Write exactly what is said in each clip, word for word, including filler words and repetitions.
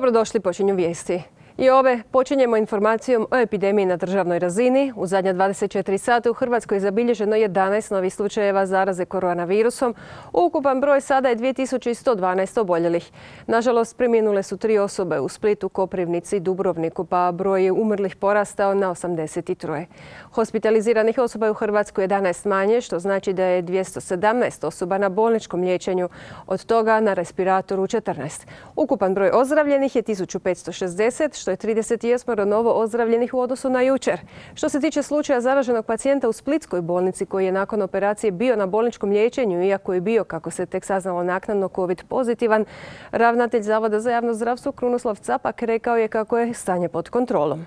Dobrodošli, počinju vijesti. I ove počinjemo informacijom o epidemiji na državnoj razini. U zadnja dvadeset četiri sata u Hrvatskoj je zabilježeno jedanaest novih slučajeva zaraze koronavirusom. Ukupan broj sada je dvije tisuće sto dvanaest oboljelih. Nažalost, preminule su tri osobe u Splitu, Koprivnici i Dubrovniku, pa broj je umrlih porastao na osamdeset tri. Hospitaliziranih osoba je u Hrvatskoj jedanaest manje, što znači da je dvjesto sedamnaest osoba na bolničkom liječenju, od toga na respiratoru četrnaest. Ukupan broj ozdravljenih je tisuću petsto šezdeset, što je trideset osam novo ozdravljenih u odnosu na jučer. Što se tiče slučaja zaraženog pacijenta u Splitskoj bolnici koji je nakon operacije bio na bolničkom liječenju, iako je bio, kako se tek saznalo naknadno, COVID pozitivan, ravnatelj Zavoda za javno zdravstvo Krunoslav Capak rekao je kako je stanje pod kontrolom.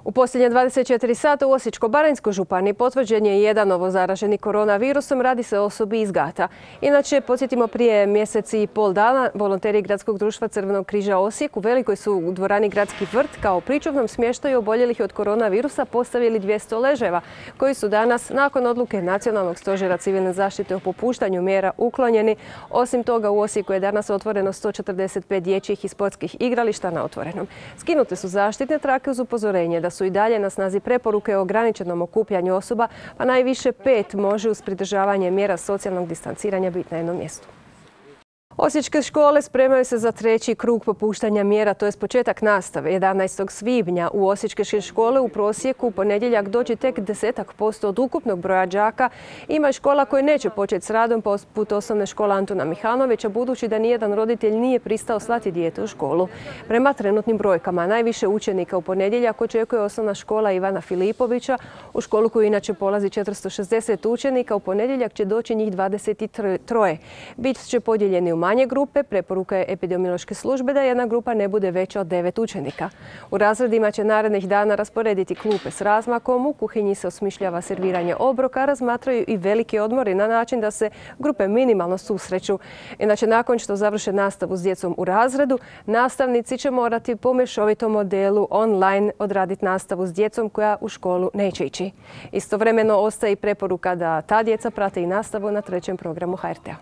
U posljednje dvadeset četiri sata u Osječko-baranjskoj županiji potvrđen je jedan novo zaraženi koronavirusom, radi se o osobi iz Gata. Inače, podsjetimo, prije mjesec i pol dana volonteri Gradskog društva Crvenog križa Osijek u Velikoj su u dvorani Gradski vrt kao pričuvnom smještaju oboljelih od koronavirusa postavili dvjesto ležajeva, koji su danas, nakon odluke Nacionalnog stožera civilne zaštite o popuštanju mjera, uklonjeni. Osim toga, u Osijeku je danas otvoreno sto četrdeset pet dječjih i sportskih igrališta na otvorenom. Skinute su zaštitne trake uz upozorenje da su i dalje na snazi preporuke o ograničenom okupljanju osoba, pa najviše pet može uz pridržavanje mjera socijalnog distanciranja biti na jednom mjestu. Osječke škole spremaju se za treći krug popuštanja mjera, to je početak nastave. jedanaestog svibnja u osječke škole u prosjeku u ponedjeljak doći tek desetak posto od ukupnog broja đaka. Ima škola koje neće početi s radom, poput osnovne škole Antuna Mihanovića, budući da nijedan roditelj nije pristao slati dijete u školu. Prema trenutnim brojkama, najviše učenika u ponedjeljak očekuje osnovna škola Ivana Filipovića. U školu koju inače polazi četiristo šezdeset učenika, u ponedjeljak će doći njih dvadeset tri. Bit će podijeljeni u manje grupe. Preporuka je epidemiološke službe da jedna grupa ne bude veća od devet učenika. U razredima će narednih dana rasporediti klupe s razmakom, u kuhinji se osmišljava serviranje obroka, razmatraju i veliki odmori na način da se grupe minimalno susreću. Inače, nakon što završe nastavu s djecom u razredu, nastavnici će morati po mješovitom modelu online odraditi nastavu s djecom koja u školu neće ići. Istovremeno ostaje i preporuka da ta djeca prate i nastavu na trećem programu H R T-a.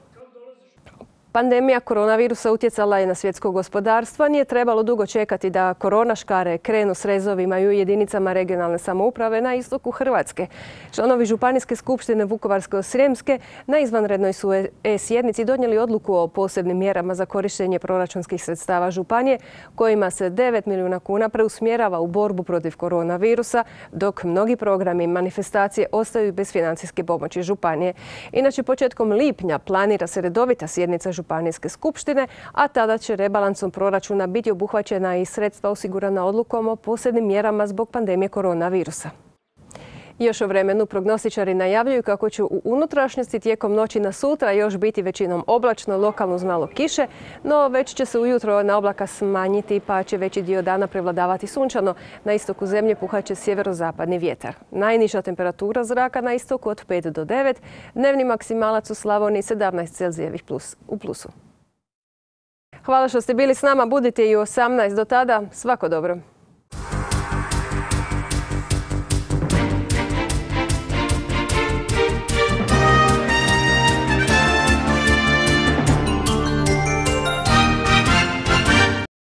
Pandemija koronavirusa utjecala je na svjetsko gospodarstvo. Nije trebalo dugo čekati da korona škare krenu s rezovima i u jedinicama regionalne samouprave na istoku Hrvatske. Članovi Županijske skupštine Vukovarsko-srijemske na izvanrednoj su e-sjednici donijeli odluku o posebnim mjerama za korištenje proračunskih sredstava županije, kojima se devet milijuna kuna preusmjerava u borbu protiv koronavirusa, dok mnogi programi i manifestacije ostaju bez financijske pomoći županije. Inače, početkom lipnja planira se redovita sjednica Županijske skupštine, a tada će rebalansom proračuna biti obuhvaćena i sredstva osigurana odlukom o posebnim mjerama zbog pandemije koronavirusa. Još o vremenu prognostičari najavljuju kako će u unutrašnjosti tijekom noći na sutra još biti većinom oblačno, lokalno uz malo kiše, no već će se ujutro na oblaka smanjiti pa će veći dio dana prevladavati sunčano. Na istoku zemlje puhaće sjeverozapadni vjetar. Najniža temperatura zraka na istoku od pet do devet, dnevni maksimalac u Slavoniji sedamnaest Celzijevih plus, u plusu. Hvala što ste bili s nama, budite i u osamnaest. Do tada, svako dobro.